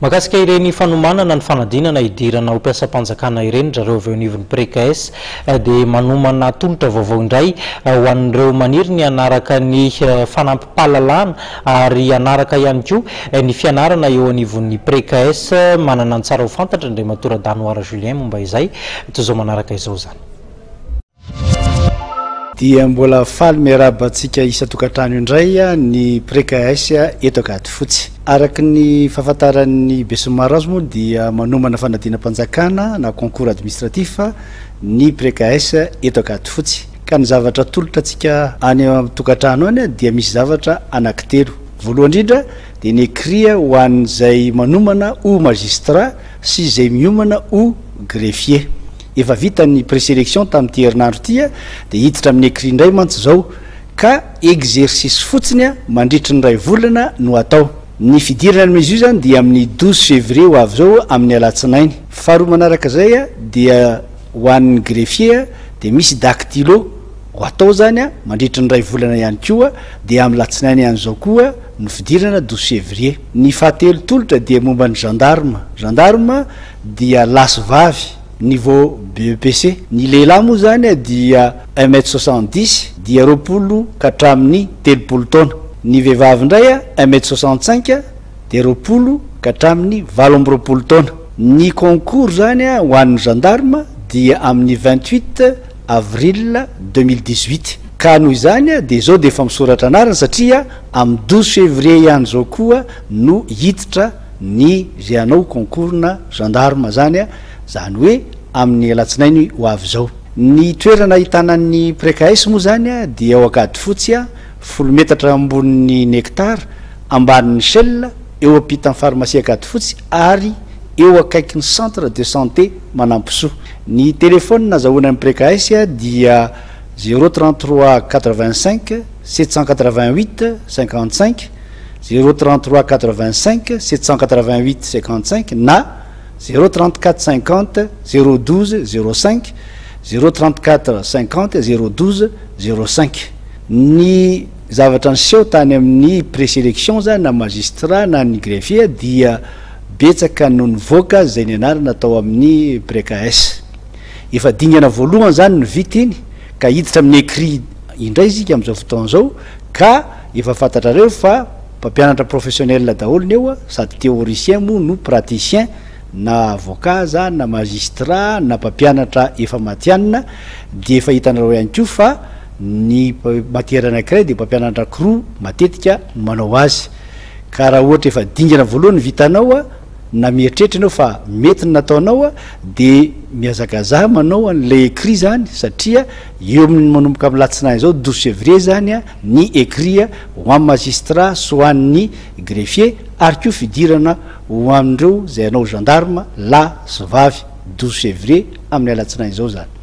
Mahakasika ireny fanomanana ny fanadinana hidirana ho mpiasam-panjakana ireny ry zareo avy eo anivon'ny Precaes dia manomana tolotra vaovao indray ho an'ireo maniry ny hanaraka ny fanampim-pahalalana ary hanaraka ihany koa ny fianarana eo anivon'ny Precaes. Manana ny tsara ho fantatra Andriamatoa Radanoara Julien momba izay toy izao manaraka izao izany. Dia mbola faly miarahaba antsika isan-tokantrano indray ny Precaes eto Ankadifotsy. Araka ny fahafantaran'ny besinimaro azy moa dia manomana fanadinam-panjakana na concours administratif ny Precaes eto Ankadifotsy. Ka ny zavatra atolotra antsika any an-tokantrano any dia misy zavatra anankitelo. Voalohany indrindra dia ny écrit ho an'izay manomana ho magistrat sy izay miomana ho greffier. Efa vita ny preselection tamin'ity herinandro ity dia hiditra amin'ny écrit indray mantsy izao ka exercice fotsiny mandritry ny iray volana no atao. Ny fidirana amin'izy io izany dia amin'ny 12 février ho avy izao amin'ny alatsinainy. Faharoa manaraka izay dia ho an'ny greffier dia misy dactylo ho atao izany mandritry ny iray volana ihany koa dia amin'ny latsinainy ihany izao koa no fidirana 12 février. Ny fahatelo tolotra dia momba ny gendarme. Gendarme dia lahy sy vavy, niveau BEPC. Ny lehilahy moa izany dia un mètre soixante-dix dia 20 ka hatramin'ny 30 taona. Ny vehivavy indray un mètre soixante-cinq dia 20 ka hatramin'ny 28 taona. Ny concours izany ho an'ny gendarme dia amin'ny 28 avril 2018. Ka noho izany dia izao dia efa misoratra anarana satria amin'ny 12 février ihany izao koa no hiditra ny izay hanao concours-na gendarme zany, zany hoe amin'ny alatsinainy ho avy izao. Ny toerana ahitana ny Precaes moa zany dia ao Ankadifotsy, folo metatra ambonin'ny Nectar, ambanin'ny Shell, eo ampitan'ny pharmacie Ankadifotsy ary eo akaikin'ny centre de santé Manampisoa. Ny telephone azahoana ny Precaes dia zéro 33 85 788 55, 0 33 85 788 55 na 0 34 50 0 12 05, 0 34 50 0 12 05. Ny zavatra niseho tany amin'ny preselection zany na magistrat na ny greffier dia betsaka no nivoaka izay nianarana tao amin'ny Precaes. Efa dingana voalohany zany no vita iny ka hiditra amin'ny écrit indray isika amin'izao fotoana izao ka Efa fantatrareo fa mpampianatra professionnel daholo ny eo sady théoricien moa no praticien na avocat aza na magistrat na mpampianatra efa matihanina dia efa hitanareo ihany koa fa ny matière anakiray dia mpampianatra ankiroa matetika no manao azy ka raha ohatra efa dingana voalohany vitanao na mieritreritra ianao fa mety ny nataonao dia mihazakazaha manao an'ilay écrit zany satria eo amin'ny manomboka amin'ny latsinainy izao 12 février zany ny écrit ho an'ny magistrat sy ho an'ny greffier ary koa fidirana ho an'ireo izay hanao gendarme lahy sy vavy 12 février amin'ny alatsinainy izao izany.